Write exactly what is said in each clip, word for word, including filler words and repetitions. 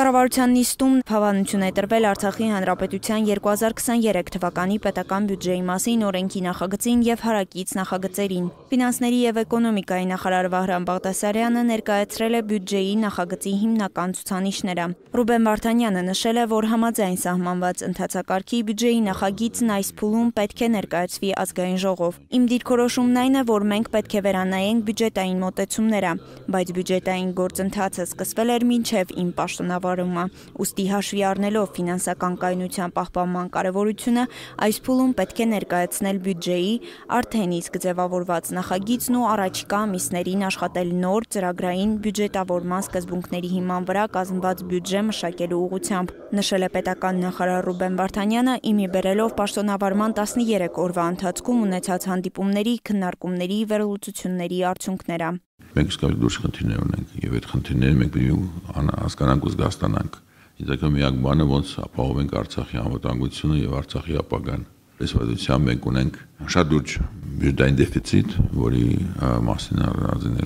Կառավարության նիստում հավանություն է տրվել Արցախի Հանրապետության երկու հազար քսաներեք թվականի պետական բյուջեի մասին օրենքի նախագծին եւ հարակից նախագծերին։ Ֆինանսների եւ էկոնոմիկայի նախարար Վահրամ Բաղդասարյանը ներկայացրել է բյուջեի նախագծի հիմնական ցուցանիշները։ Ռուբեն Վարդանյանը նշել է, որ համաձայն սահմանված ընթացակարգի բյուջեի նախագիծն այս փուլում պետք է ներկայացվի ազգային ժողով։ Իմ դիրքորոշումն այն է, որ մենք պետք է վերանայենք բյուջետային մոտեցումները, բայց բյուջետային գործընթացը սկսվել էր մինչև իմ պաշտոնավարումը։ Ուստի հաշվի առնելով ֆինանսական կայունության պահպանման կարևորությունը, այս փուլում պետք է ներկայացնել բյուջեի արդեն իսկ ձևավորված նախագիծն ու առաջիկա ամիսներին աշխատել նոր ծրագրային բյուջետավորման սկզբունքների հիման վրա կազմված բյուջե մշակելու ուղղությամբ, նշել է պետական նախարար Ռուբեն Վարդանյանը, իմի բերելով պաշտոնավարման տասներեք օրվա ընթացքում ունեցած հանդիպումների, քննարկումների, վերլուծությունների արդյունքները։ Մենք սկսել դուրս խնդիրներ ունենք եւ այդ խնդիրները մենք պետք է հասկանանք ու զգաստանանք։ Իդեպ միակ բանը ոնց ապահովենք Արցախի անվտանգությունը եւ Արցախի ապագան։ Այս վարդությամբ մենք ունենք շատ լուրջ բյուջետային դեֆիցիտ, որի մասին առանձին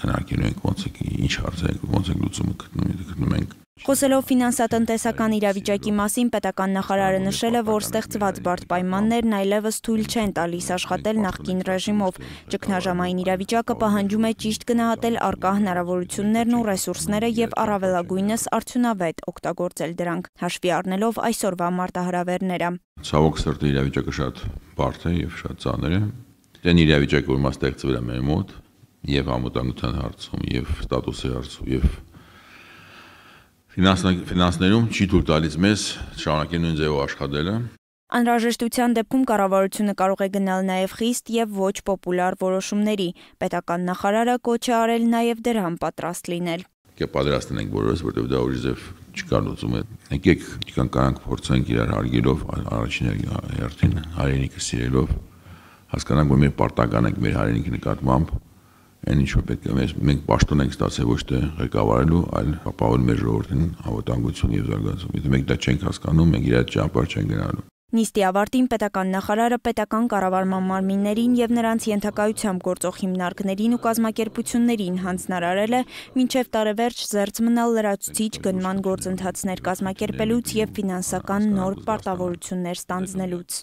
քննարկելու ենք ոնց է ինչ հարցեր ոնց է լուծումը գտնում ենք։ Խոսելով ֆինանսատնտեսական իրավիճակի մասին, պետական նախարարը նշել է, որ ստեղծված բարդ պայմաններն այլևս թույլ չեն տալիս աշխատել նախկին ռեժիմով։ Ճգնաժամային իրավիճակը պահանջում է ճիշտ գնահատել առկա հնարավորություններն ու ռեսուրսները եւ առավելագույնս արդյունավետ օգտագործել դրանք, հաշվի առնելով այսօրվա մարտահրավերները։ Ցավոք սրտի իրավիճակը շատ բարդ է եւ շատ ծանր է։ Դեն իրավիճակը, որ մաս ստեղծվել է մեր մոտ եւ անվտանգության հարցում եւ ստատուսի հարցում եւ Ֆինանսներում չի թույլ տալիս մեզ շարունակել նույն ձևով աշխատելը։ Անհրաժեշտության դեպքում կառավարությունը կարող է գնալ նաև խիստ եւ ոչ պոպուլար որոշումների։ Պետական նախարարը կոչ է արել նաև դրան պատրաստ լինել։ Կե պատրաստ ենք բոլորս, որտեղ դա ուժ ձև չկա լուծում է։ Եկեք կանկանք փորձենք իրար հարգելով, առաջին հերթին հայրենիքը սիրելով, հասկանանք, որ մեր պարտական ենք մեր հայրենիքի նկատմամբ։ Այն ինչ որ պետք է մենք պաշտոն ենք ստացել ոչ թե ղեկավարելու, այլ ապահովել մեր ժողովրդին անվտանգություն եւ զարգացում։ Եթե մենք դա չենք հասկանում, մենք իրար ճանապարհ չենք գնալու։ Նիստի ավարտին պետական նախարարը պետական կառավարման մարմիններին եւ նրանց ենթակայությամբ գործող հիմնարկներին ու կազմակերպություններին հանձնարարել է մինչեւ տարեվերջ զերծ մնալ լրացուցիչ գնման գործընթացներ կազմակերպելուց եւ ֆինանսական նոր պարտավորություններ ստանձնելուց։